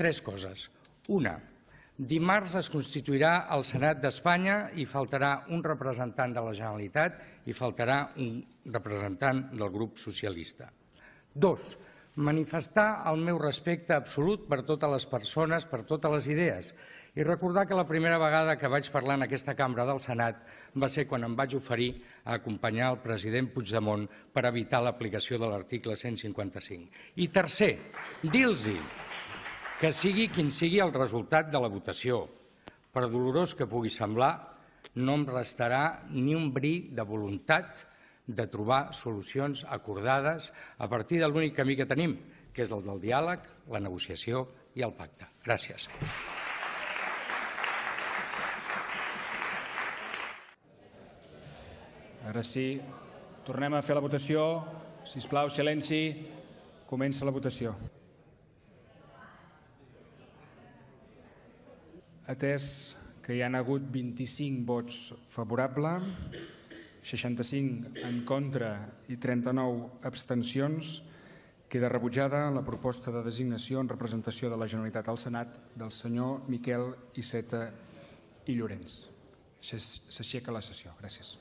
tres coses. Una, dimarts es constituirà el Senat d'Espanya i faltarà un representant de la Generalitat i faltarà un representant del grup socialista. Dos, manifestar el meu respecte absolut per totes les persones, per totes les idees, i recordar que la primera vegada que vaig parlar en aquesta cambra del Senat va ser quan em vaig oferir a acompanyar el president Puigdemont per evitar l'aplicació de l'article 155. I tercer, dir-los que sigui quin sigui el resultat de la votació, per dolorós que pugui semblar, no em restarà ni un bri de voluntat de trobar solucions acordades a partir de l'únic camí que tenim, que és el del diàleg, la negociació i el pacte. Gràcies. Ara sí, tornem a fer la votació. Sisplau, silenci. Comença la votació. Atès que hi ha hagut 25 vots favorables, 65 en contra i 39 abstencions, queda rebutjada la proposta de designació en representació de la Generalitat al Senat del senyor Miquel Iceta i Llorens. S'aixeca la sessió. Gràcies.